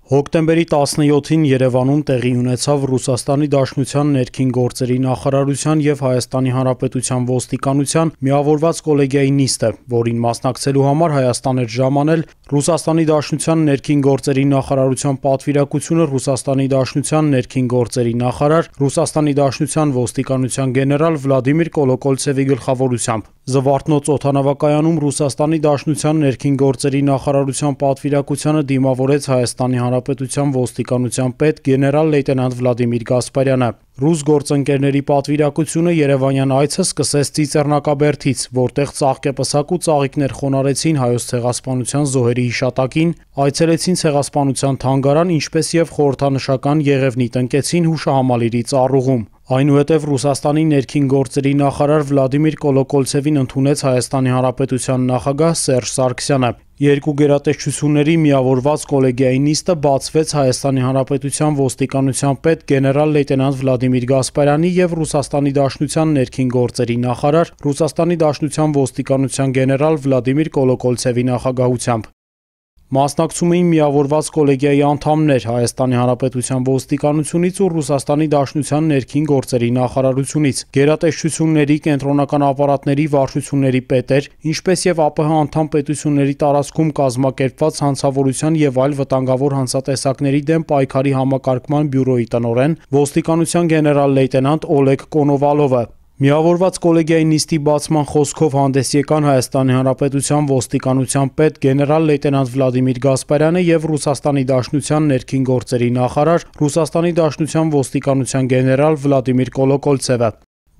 Հոկտեմբերի 17-ին Երևանում տեղի ունեցավ Ռուսաստանի Դաշնության ներքին գործերի նախարարության և Հայաստանի Հանրապետության ոստիկանության միավորված կոլեգիայի նիստը, որին մասնակցելու համար Հայաստան էր ժամանել Ռուսաստանի Դաշնության ներքին գործերի նախարարության պատվիրակությունը Ռուսաստանի Դաշնության ներքին գործերի նախարար, Ռուսաստանի Դաշնության ոստիկանության գեներալ Վլադիմիր Կոլոկոլցևի գլխավորությամբ։ Զվարթնոց օդանավակայանում Ռուսաստանի Դաշնության ներքին գործերի նախարարության պատվիրակությանը դիմավորեց Հայաստանի Հանրապետության ոստիկանության պետ գեներալ լեյտենանտ Վլադիմիր Գասպարյանը։ Ռուս գործընկերների պատվիրակությունը Երևանյան այցը սկսեց Ծիծեռնակաբերդից, որտեղ ծաղկեպսակ ու ծաղիկներ խոնարհեցին Հայոց ցեղասպանության զոհերի հիշատակին, այցելեցին ցեղասպանության թանգարան, ինչպես եւ խորհրդանշական եղևնի տնկեցին հուշահամալիրի ծառուղում։ Այնուհետև Ռուսաստանի ներքին գործերի նախարար Վլադիմիր Կոլոկոլցևին ընդունեց Հայաստանի Հանրապետության նախագահ Սերժ Սարգսյանը։ Երկու գերատեսչությունների միավորված կոլեգիայի նիստը բացվեց Հայաստանի Հանրապետության ոստիկանության պետ գեներալ լեյտենանտ Վլադիմիր Գասպարյանի և Ռուսաստանի Դաշնության ներքին գործերի նախարար, Ռուսաստանի Դաշնության ոստիկանության գեներալ Վլադիմիր Կոլոկոլցևի նախագահությամբ։ Մասնակցում էին միավորված կոլեգիայի անդամներ Հայաստանի Հանրապետության ոստիկանությունից ու Ռուսաստանի Դաշնության ներքին գործերի նախարարությունից, գերատեսչությունների, կենտրոնական ապարատների վարչությունների պետեր, ինչպես եւ ԱՊՀ անդամ պետությունների տարածքում կազմակերպված հանցավորության եւ այլ վտանգավոր հանցատեսակների դեմ պայքարի համակարգման բյուրոյի տնօրեն, ոստիկանության գեներալ լեյտենանտ Օլեգ Կոնովալովը։ Միավորված կոլեգիայի նիստի բացման խոսքով հանդես եկան Հայաստանի Հանրապետության ոստիկանության պետ գեներալ լեյտենանտ Վլադիմիր Գասպարյանը եւ Ռուսաստանի Դաշնության ներքին գործերի նախարար, Ռուսաստանի Դաշնության ոստիկանության գեներալ Վլադիմիր Կոլոկոլցևը։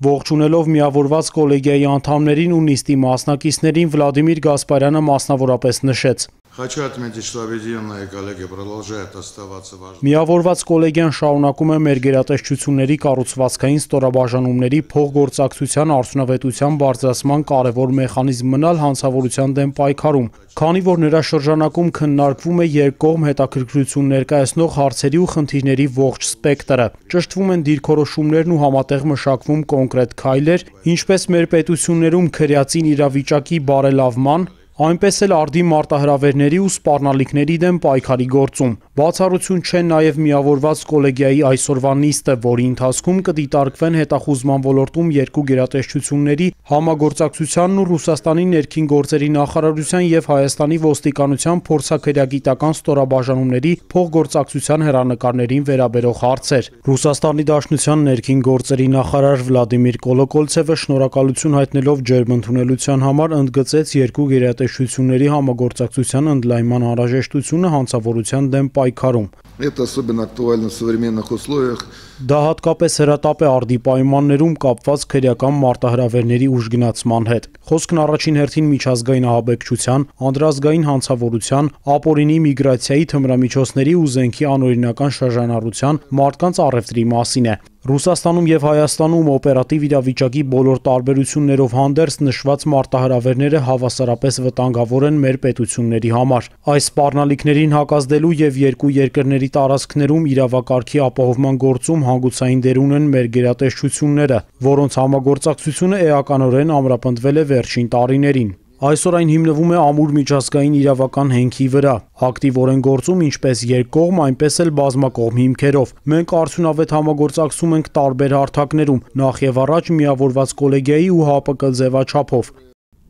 Ողջունելով միավորված կոլեգիայի անդամներին ու նիստի մասնակիցներին Վլադիմիր Գասպարյանը մասնավորապես նշեց. Хочу отметить, что объединенные коллеги продолжают оставаться важными. Միավորված կոլեգիան շարունակում է մեր գերատեսչությունների կառուցվածքային ստորաբաժանումների փոխգործակցության արդյունավետության բարձրացման կարևոր մեխանիզմ մնալ հանցավորության դեմ պայքարում, քանի որ նրա շրջանակում քննարկվում է երկկողմ հետաքրքրություն ներկայացնող հարցերի ու խնդիրների ողջ սպեկտրը, ճշտվում են դիրքորոշումներն ու համատեղ մշակվում կոնկրետ քայլեր, ինչպես մեր պետություններում քրեածին իրավիճակի բարելավման, այնպես էլ արդի մարտահրավերների ու սպառնալիքների դեմ պայքարի գործում։ Բացառություն չէ նաև միավորված կոլեգիայի այսօրվա նիստը, որի ընթացքում կդիտարկվեն հետախուզման ոլորտում երկու գերատեսչությունների համագործակցությանն ու Ռուսաստանի ներքին գործերի նախարարության եւ Հայաստանի ոստիկանության փորձաքրեագիտական ստորաբաժանումների փոխգործակցության հեռանկարներին վերաբերող հարցեր։ Ռուսաստանի Դաշնության ներքին գործերի նախարար Վլադիմիր Կոլոկոլցևը շնորհակալություն հայտնելով ջերմընդունելության համար ընդգծեց երկու գերատեսչությունների համագործակցության ընդլայնման անհրաժեշտությունը հանցավորության դեմ պայքարում։ Это особенно актуально в современных условиях. Դա հատկապես հրատապ է արդի պայմաններում կապված քրեական մարտահրավերների ուժգնացման հետ։ Խոսքն առաջին հերթին միջազգային ահաբեկչության, անդրազգային հանցավորության, ապօրինի միգրացիայի թմրամիջոցների ու զենքի անօրինական շրջանառության, մարդկանց առևտրի մասին է։ Ռուսաստանում եւ Հայաստանում օպերատիվ իրավիճակի բոլոր տարբերություններով հանդերձ նշված մարտահրավերները հավասարապես վտանգավոր են մեր պետությունների համար։ Այս սպառնալիքներին հակազդելու եւ երկու երկրների տարածքներում իրավակարգի ապահովման գործում հանգուցային դեր ունեն մեր գերատեսչությունները, որոնց համագործակցությունը էականորեն ամրապնդվել է վերջին տարիներին։ Այսօր այն հիմնվում է ամուր միջազգային իրավական հենքի վրա, ակտիվորեն գործում ինչպես երկկողմ, այնպես էլ բազմակողմ հիմքերով։ Մենք արդյունավետ համագործակցում ենք տարբեր հարթակներում, նախ եւ առաջ միավորված կոլեգիայի ու ՀԱՊԿ ձևաչափով։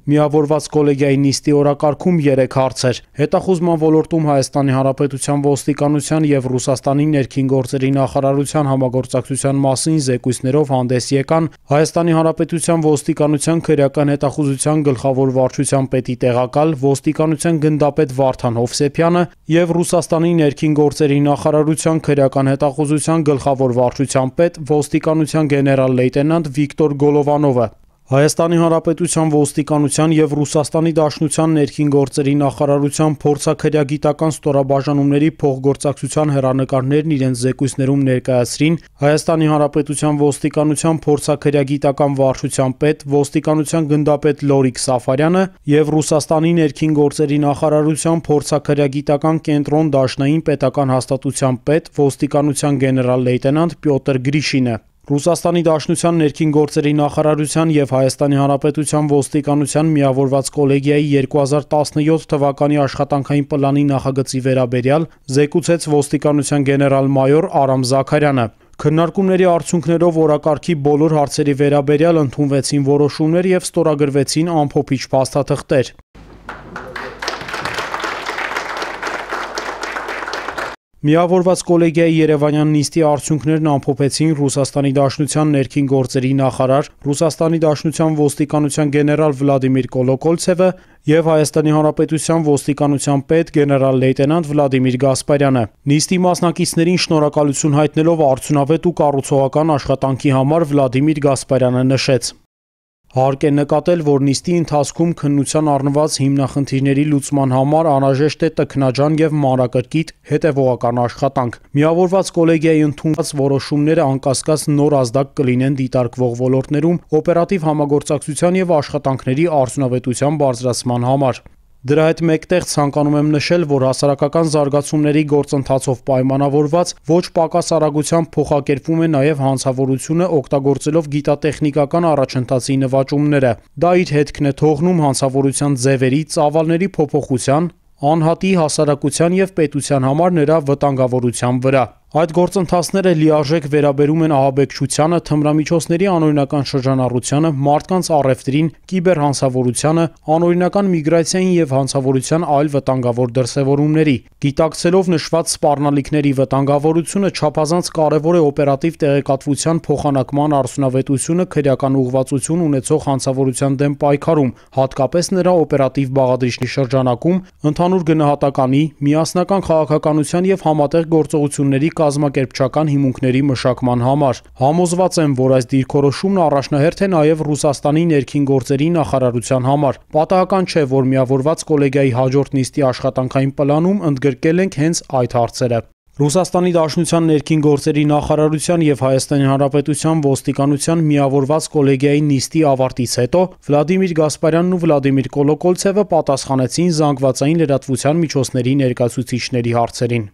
Միավորված կոլեգիայի նիստի օրակարգում 3 հարց էր։ Հետախուզման ոլորտում Հայաստանի Հանրապետության ոստիկանության եւ Ռուսաստանի ներքին գործերի նախարարության համագործակցության մասին զեկույցներով հանդես եկան Հայաստանի Հանրապետության ոստիկանության քրեական հետախուզության գլխավոր վարչության պետի տեղակալ, ոստիկանության գնդապետ Վարդան Հովսեփյանը եւ Ռուսաստանի ներքին գործերի նախարարության քրեական հետախուզության գլխավոր վարչության պետ, ոստիկանության գեներալ լեյտենանտ Վիկտոր Գոլովանովը։ Հայաստանի Հանրապետության ոստիկանության եւ Ռուսաստանի Դաշնության ներքին գործերի նախարարության փորձաքրեագիտական ստորաբաժանումների փոխգործակցության հեռանկարներն իրենց զեկույցներում ներկայացրին Հայաստանի Հանրապետության ոստիկանության փորձաքրեագիտական վարչության պետ, ոստիկանության գնդապետ Լորիկ Սաֆարյանը եւ Ռուսաստանի ներքին գործերի նախարարության փորձաքրեագիտական կենտրոն Դաշնային պետական հաստատության պետ, ոստիկանության գեներալ լեյտենանտ Պյոտր Գրիշինը։ Ռուսաստանի Դաշնության ներքին գործերի նախարարության եւ Հայաստանի Հանրապետության ոստիկանության միավորված կոլեգիայի 2017 թվականի աշխատանքային պլանի նախագծի վերաբերյալ զեկուցեց ոստիկանության գեներալ-մայոր Արամ Զաքարյանը։ Քննարկումների արդյունքներով օրակարգի բոլոր հարցերի վերաբերյալ ընդունվեցին որոշումներ եւ ստորագրվեցին ամփոփիչ փաստաթղթեր։ Միավորված կոլեգիայի երևանյան նիստի արդյունքներն ամփոփեցին Ռուսաստանի Դաշնության ներքին գործերի նախարար, Ռուսաստանի Դաշնության ոստիկանության գեներալ Վլադիմիր Կոլոկոլցևը եւ Հայաստանի Հանրապետության ոստիկանության պետ գեներալ-լեյտենանտ Վլադիմիր Գասպարյանը։ Նիստի մասնակիցներին շնորհակալություն հայտնելով արդյունավետ ու կառուցողական աշխատանքի համար Վլադիմիր Գասպարյանը նշեց. Հարկ է նկատել, որ նիստի ընթացքում քննության առնված հիմնախնդիրների լուծման համար անհրաժեշտ է տքնաջան եւ մանրակրկիտ հետեւողական աշխատանք։ Միավորված կոլեգիայի ընդունված որոշումները անկասկած նոր ազդակ կլինեն դիտարկվող ոլորտներում օպերատիվ համագործակցության եւ աշխատանքների արդյունավետության բարձրացման համար։ Դրա հետ մեկտեղ ցանկանում եմ նշել, որ հասարակական զարգացումների գործընթացով պայմանավորված ոչ պակաս արագությամբ փոխակերպվում է նաև հանցավորությունը օգտագործելով գիտատեխնիկական առաջընթացի նվաճումները։ Դա իր հետքն է թողնում հանցավորության ձևերի, ծավալների փոփոխության, անհատի, հասարակության եւ պետության համար նրա վտանգավորության վրա։ Այդ գործընթացները լիարժեք վերաբերում են ահաբեկչությանը, թմրամիջոցների անօրինական շրջանառությանը, մարդկանց առևտրին, կիբերհանցավորությանը, անօրինական միգրացիային եւ հանցավորության այլ վտանգավոր դրսեւորումների։ Գիտակցելով նշված սպառնալիքների վտանգավորությունը չափազանց կարեւոր է օպերատիվ տեղեկատվության փոխանակման արդյունավետությունը քրեական ուղղվածություն ունեցող հանցավորության դեմ պայքարում, հատկապես նրա օպերատիվ բաղադրիչի շրջանակում, ընդհանուր գնահատականի, միասնական քաղաքականության եւ համատեղ գործողությունների կազմակերպչական հիմունքների մշակման համար։ Համոզված եմ, որ այս դիրքորոշումն առաջնահերթ է նաև Ռուսաստանի ներքին գործերի նախարարության համար։ Պատահական չէ, որ միավորված կոլեգիայի հաջորդ նիստի աշխատանքային պլանում ընդգրկել ենք հենց այդ հարցերը։ Ռուսաստանի Դաշնության ներքին գործերի նախարարության եւ Հայաստանի Հանրապետության ոստիկանության միավորված կոլեգիայի նիստի ավարտից հետո Վլադիմիր Գասպարյանն ու Վլադիմիր Կոլոկոլցևը պատասխանեցին զանգվածային լրատվության միջոցների ներկայացուցիչների հարցերին։